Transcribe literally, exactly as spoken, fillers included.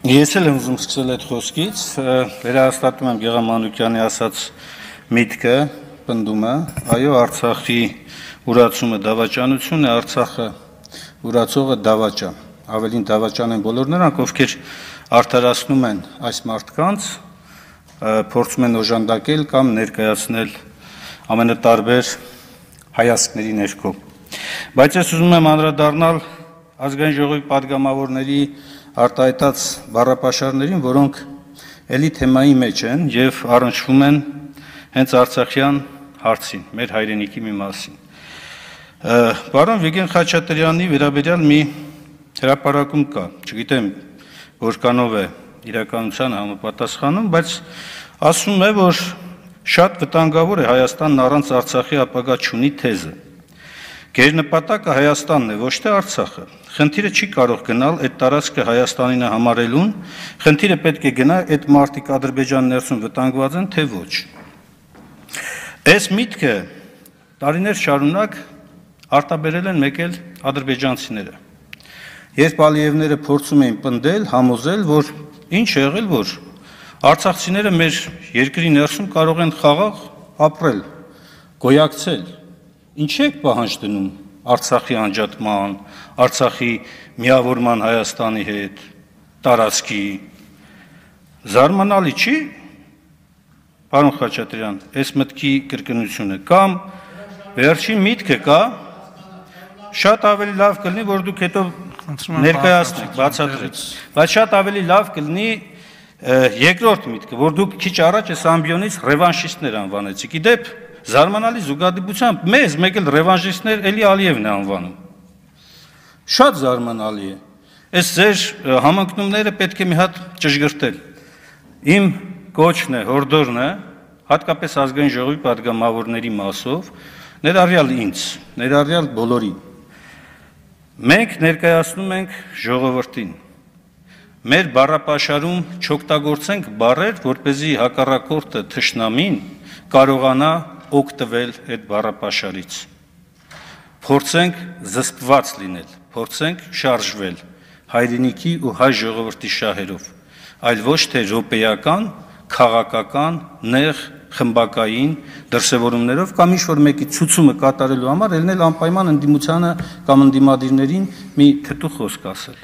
Ես էլ եմ ուզում սկսել այդ խոսքից, վերահաստատում եմ Գեղամ Մանուկյանի ասած միտքը, պնդումը, այո, Արցախի ուրացումը դավաճանություն է, Արցախը ուրացողը դավաճան, ավելին դավաճան են բոլոր նրանք, ովքեր արդարացնում են այս մարդկանց, փորձում են օժանդակել կամ ներկայացնել ամենատարբեր հայացքների ներքո։ Բայց ես ուզում եմ անդրադառնալ Ազգային ժողովի պատգամավորների արտահայտած բառապաշարներին, որոնք էլի թեմայի մեջ են եւ առնչվում են հենց արցախյան հարցին, մեր հայրենիքի մի մասին։ Պարոն Վիգեն Խաչատրյանի վերաբերյալ մի հրապարակում կա, չգիտեմ որքանով է իրականությանը համապատասխանում, բայց ասում է, որ շատ վտանգավոր է Հայաստանն առանց Արցախի ապագա չունի թեզը։ Գերնպատակը Հայաստանն է, ոչ թե Արցախը։ Խնդիրը չի կարող գնալ այդ տարածքը Հայաստանին է համարելուն, խնդիրը պետք է գնա այդ մարտիկ Ադրբեջան ներսում վտանգված են, թե ոչ։ Այս միտքը տարիներ շարունակ արտաբերել են մեկ էլ ադրբեջանցիները։ Երբ Ալիևները փորձում էին պնդել, համոզել, որ ինչ է եղել, որ արցախցիները մեր երկրի ներսում կարող են խաղաղ ապրել, գոյակցել, ինչ եք պահանջ դնում Արցախի անջատման, Արցախի միավորման Հայաստանի հետ, տարածքի, զարմանալի չի, պարոն Խաչատրյան, այս մտքի կրկնությունը, կամ վերջին միտքը կա, շատ ավելի լավ կլինի, որ դուք հետո ներկայացնեք, բացատրեք, բայց շատ ավելի լավ կլինի երկրորդ միտքը, որ դուք քիչ առաջ այս ամբիոնից ռևանշիստներ անվանեցիք, իդեպ զարմանալի զուգադիպությամբ մեզ մեկ էլ ռևանշիստներ էլի Ալիևն է անվանում, շատ զարմանալի է, այս ձեր համընկնումները պետք է մի հատ ճշգրտել, իմ կոչն է, հորդորն է, հատկապես Ազգային ժողովի պատգամավորների մասով, ներառյալ ինձ, ներառյալ բոլորին, մենք ներկայացնում ենք ժողովրդին, մեր բառապաշարում չօգտագործենք բառեր, որպեսզի հակառակորդը թշնամին կարողանա օգտվել այդ բառապաշարից, փորձենք զսպված լինել, փորձենք շարժվել հայրենիքի ու հայ ժողովրդի շահերով, այլ ոչ թե րոպեական, քաղաքական, նեղ, խմբակային դրսևորումներով կամ ինչ-որ մեկի ցուցումը կատարելու համար ելնել անպայման ընդդիմությանը կամ ընդդիմադիրներին մի թթու խոսք ասել։